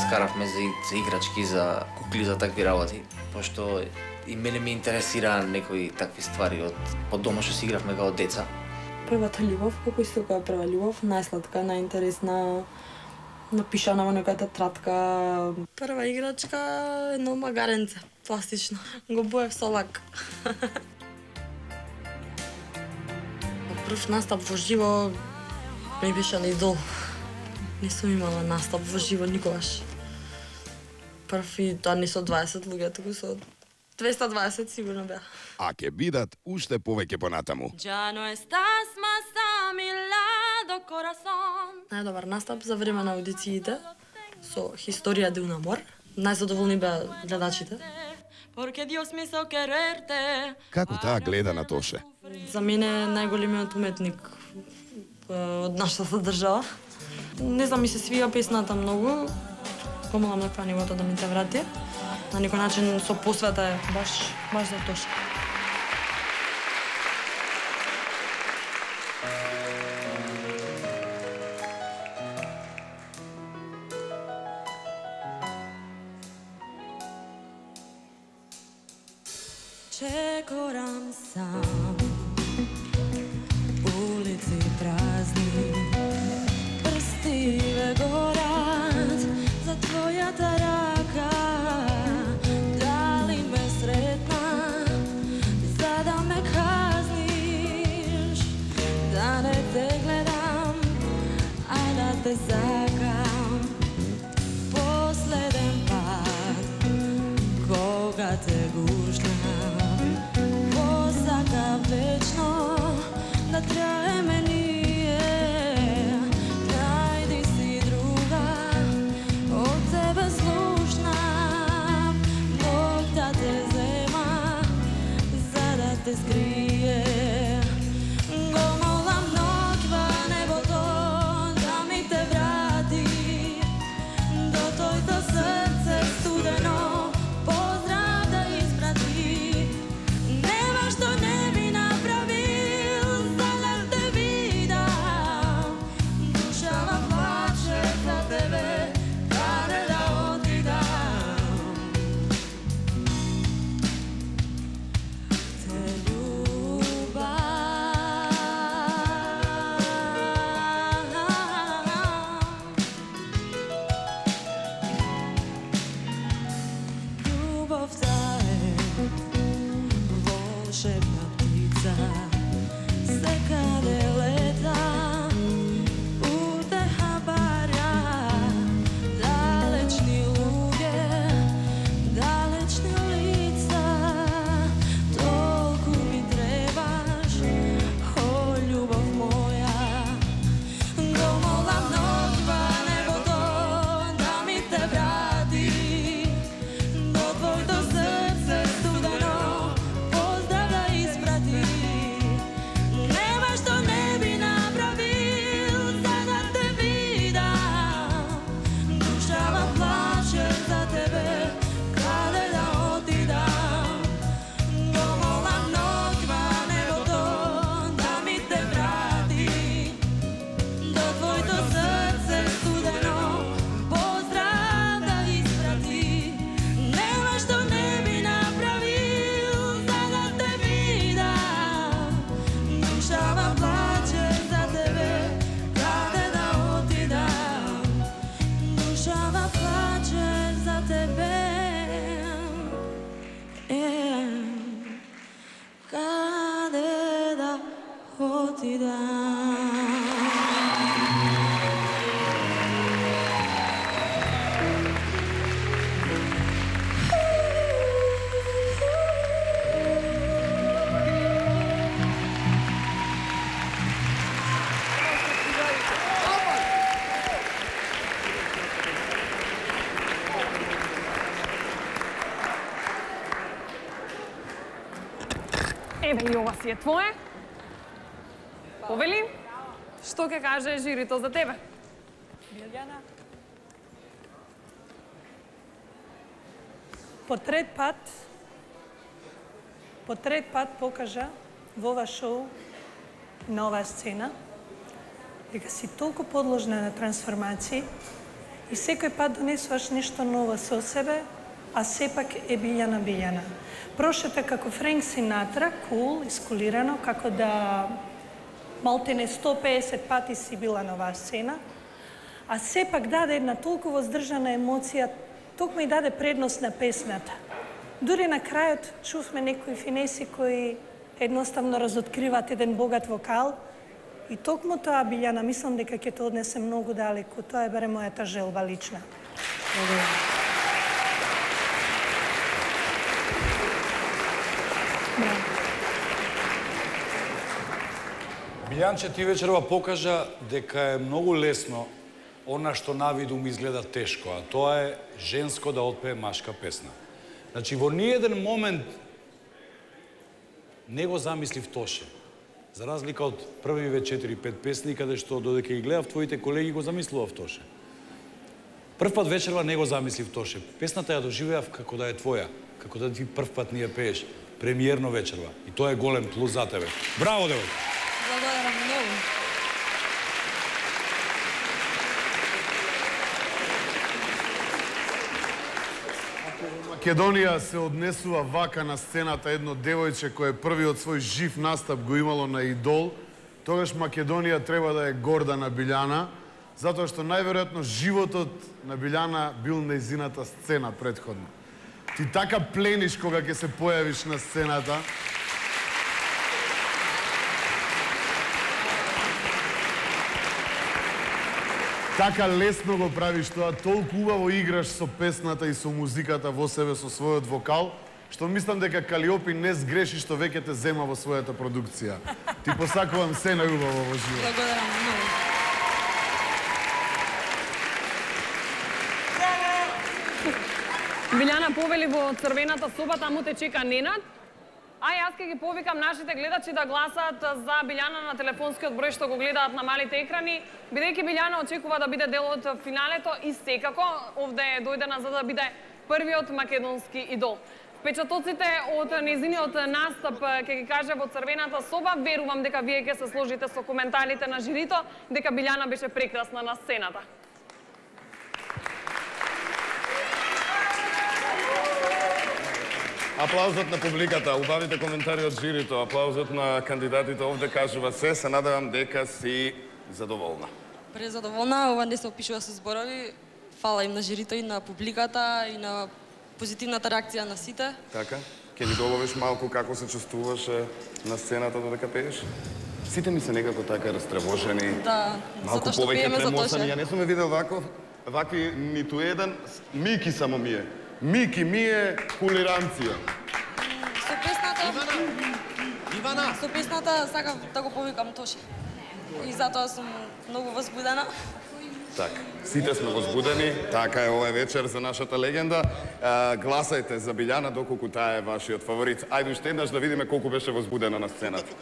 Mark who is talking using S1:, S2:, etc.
S1: скаравме за играчки, за кукли, за такви работи, пошто и мене ме интересира некои такви ствари од дома што си игравме као деца.
S2: Првата љубов, како исто која прва љубов, најсладка, најинтересна, напишана во некоја тетрадка. Прва играчка, едно магаренце, пластично. Го боев со лак. Прв настап во живо ми беше на идол. Не сум имала настап во живо никогаш. Прв и тоа не со 20 луѓе, туку со 220 сигурно беа.
S3: А ќе бидат уште повеќе понатаму.
S2: Најдобар настап за време на аудициите со Historia de un amor. Најзадоволни беа гледачите.
S3: Како таа гледа на Тоше?
S2: За мене најголемиот уметник од нашата држава. Не знам, ми се свија песната многу. Помалам на нивото да ми те врати. На некој начин со посвета е баш за Тоша.
S4: Čekoram sam, ulici prazni, prstive gorat za tvoja taraka. Da li me sretna, za da me kazniš, da ne te gledam, a da te zakam. Posleden pad, koga te guštam, večno da traje me nije. Najdi si druga, od tebe slušna. Bog da te zema, za da te skrije. Gomola noćva nebo to da mi te vrati. Do tvojto srce studeno pozdrav da isprati. Nema što ne
S5: Еве и ова си е твое. Повели, што ќе каже жирито за тебе?
S6: Билјана. По трет пат покажа во ова шоу, на оваа сцена, дека си толку подложна на трансформации И секој пат донесуваш нешто ново со себе, а сепак е Билјана. Прошета како Френк Синатра, кул, искулирано, како да малтене 150 пати си била на оваа сцена, а сепак даде една толку воздржана емоција, токму и даде предност на песната. Дури на крајот чувме некои финеси кои едноставно разоткриваат еден богат вокал и токму тоа, Билјана, мислам дека ќе те однесе многу далеку. Тоа е барем мојата желба лична.
S7: Билјанче, ти вечерва покажа дека е многу лесно она што навиду ми изгледа тешко, а тоа е женско да отпее машка песна. Значи, во ниеден момент не го замислив Тоше. За разлика од првиве 4-5 песни, каде што додека ги гледав твоите колеги го замислував Тоше. Прв пат вечерва не го замислив Тоше. Песната ја доживеав како да е твоја, како да ти прв пат ни ја пееш. Премиерно вечерва. И тоа е голем плюс за тебе. Браво, девојка!
S2: Благодарам многу.
S8: Македонија се однесува вака на сцената едно девојче кој првиот свој жив настап го имало на Идол, тогаш Македонија треба да е горда на Билјана, затоа што најверојатно животот на Билјана бил нејзината сцена претходно. Ти така плениш кога ќе се појавиш на сцената. Така лесно го правиш тоа, толку убаво играш со песната и со музиката во себе, со својот вокал, што мислам дека Калиопи не сгреши што веќе те зема во својата продукција. Ти посакувам се најубаво во живот.
S2: Благодарам многу.
S5: Билјана повели во црвената соба, таму те чека Ненад. А јас ќе ги повикам нашите гледачи да гласат за Билјана на телефонскиот број што го гледаат на малите екрани, бидејќи Билјана очекува да биде дел од финалето и секако овде е дојдена за да биде првиот македонски идол. Впечатоците од нејзиниот настап ќе ги каже во црвената соба. Верувам дека вие ќе се сложите со коментарите на жирито дека Билјана беше прекрасна на сцената.
S9: Аплаузот на публиката, убавите коментари од жирито, аплаузот на кандидатите овде кажува се, се надевам дека си задоволна.
S2: Презадоволна, ова не се опишува со зборови. Фала им на жирито и на публиката и на позитивната реакција на сите.
S9: Така? Ке ни доловиш малку како се чувствуваше на сцената додека пееш? Сите ми се некако така растревожени.
S2: Да,
S9: малку
S2: затоа што
S9: повеќе
S2: пееме за
S9: тремосани.
S2: Тоше.
S9: Ја не сум видел вакви ниту еден. Мики само ми е. Мики ми е кулиранција.
S2: Со песната... Ивана! Со песната сакав да го повикам Тоше. И затоа сум многу возбудена.
S9: Така, сите сме возбудени, така е овој вечер за нашата легенда. Гласајте за Билјана доколку таа е вашиот фаворит. Ајде уште еднаш да видиме колку беше возбудена на сцената.